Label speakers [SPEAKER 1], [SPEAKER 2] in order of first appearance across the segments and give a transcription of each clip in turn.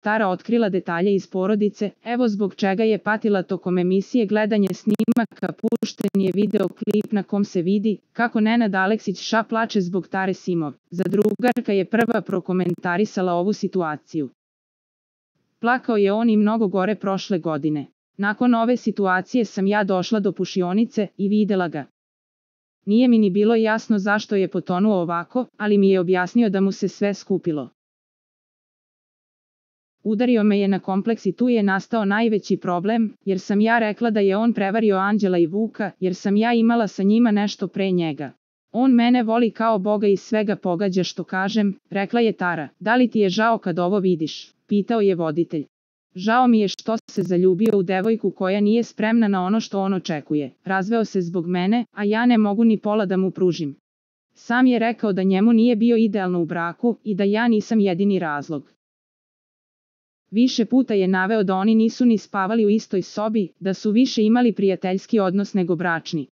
[SPEAKER 1] Tara otkrila detalje iz porodice, evo zbog čega je patila tokom emisije gledanje snimaka, pušten je video klip na kom se vidi kako Nenad Aleksić plače zbog Tare Simov. Zadrugarka je prva prokomentarisala ovu situaciju. Plakao je on i mnogo gore prošle godine. Nakon ove situacije sam ja došla do pušionice i videla ga. Nije mi ni bilo jasno zašto je potonuo ovako, ali mi je objasnio da mu se sve skupilo. Udario me je na kompleks i tu je nastao najveći problem, jer sam ja rekla da je on prevario Anđela i Vuka, jer sam ja imala sa njima nešto pre njega. On mene voli kao Boga i svega pogađa što kažem, rekla je Tara. Da li ti je žao kad ovo vidiš? Pitao je voditelj. Žao mi je što se zaljubio u devojku koja nije spremna na ono što on očekuje. Razveo se zbog mene, a ja ne mogu ni pola da mu pružim. Sam je rekao da njemu nije bio idealno u braku i da ja nisam jedini razlog. Više puta je naveo da oni nisu ni spavali u istoj sobi, da su više imali prijateljski odnos nego bračni.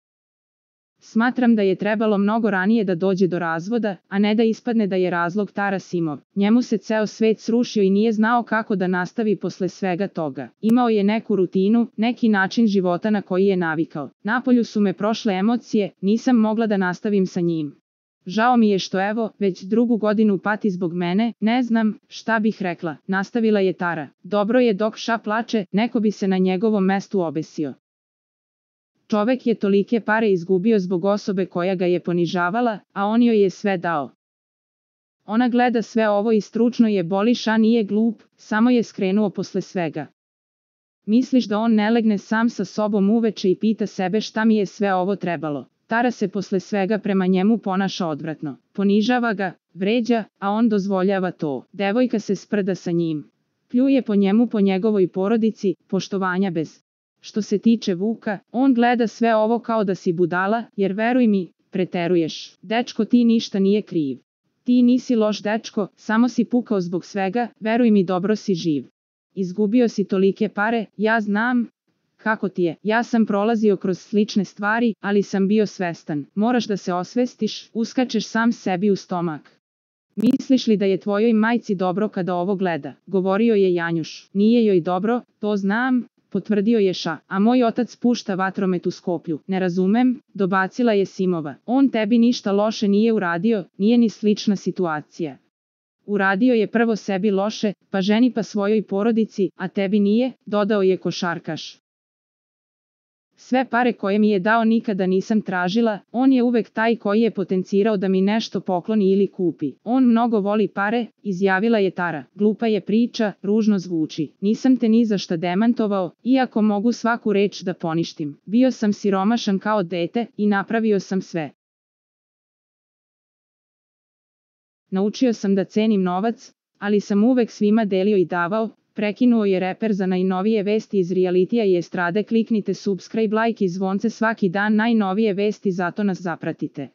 [SPEAKER 1] Smatram da je trebalo mnogo ranije da dođe do razvoda, a ne da ispadne da je razlog Tara Simov. Njemu se ceo svet srušio i nije znao kako da nastavi posle svega toga. Imao je neku rutinu, neki način života na koji je navikao. Napolju su me prošle emocije, nisam mogla da nastavim sa njim. Žao mi je što evo, već drugu godinu pati zbog mene, ne znam šta bih rekla, nastavila je Tara. Dobro je dok plače, neko bi se na njegovom mestu obesio. Čovek je tolike pare izgubio zbog osobe koja ga je ponižavala, a on joj je sve dao. Ona gleda sve ovo i stručno je boli, nije glup, samo je skrenuo posle svega. Misliš da on ne legne sam sa sobom uveče i pita sebe šta mi je sve ovo trebalo? Tara se posle svega prema njemu ponaša odvratno. Ponižava ga, vređa, a on dozvoljava to. Devojka se sprda sa njim. Pljuje po njemu, po njegovoj porodici, poštovanja bez. Što se tiče Vuka, on gleda sve ovo kao da si budala, jer veruj mi, preteruješ. Dečko, ti ništa nije kriv. Ti nisi loš dečko, samo si pukao zbog svega, veruj mi, dobro si živ. Izgubio si tolike pare, ja znam kako ti je. Ja sam prolazio kroz slične stvari, ali sam bio svestan. Moraš da se osvestiš, uskačeš sam sebi u stomak. Misliš li da je tvojoj majci dobro kada ovo gleda? Govorio je Janjuš. Nije joj dobro, to znam, potvrdio je a moj otac pušta vatromet u Skoplju. Ne razumem, dobacila je Simova. On tebi ništa loše nije uradio, nije ni slična situacija. Uradio je prvo sebi loše, pa ženi pa svojoj porodici, a tebi nije, dodao je košarkaš. Sve pare koje mi je dao nikada nisam tražila, on je uvek taj koji je potencirao da mi nešto pokloni ili kupi. On mnogo voli pare, izjavila je Tara. Glupa je priča, ružno zvuči. Nisam te ni za šta demantovao, iako mogu svaku reč da poništim. Bio sam siromašan kao dete i napravio sam sve. Naučio sam da cenim novac, ali sam uvek svima delio i davao. Prekinuo je reper. Za najnovije vesti iz realitija i estrade kliknite subscribe, like i zvonce svaki dan, najnovije vesti, zato nas zapratite.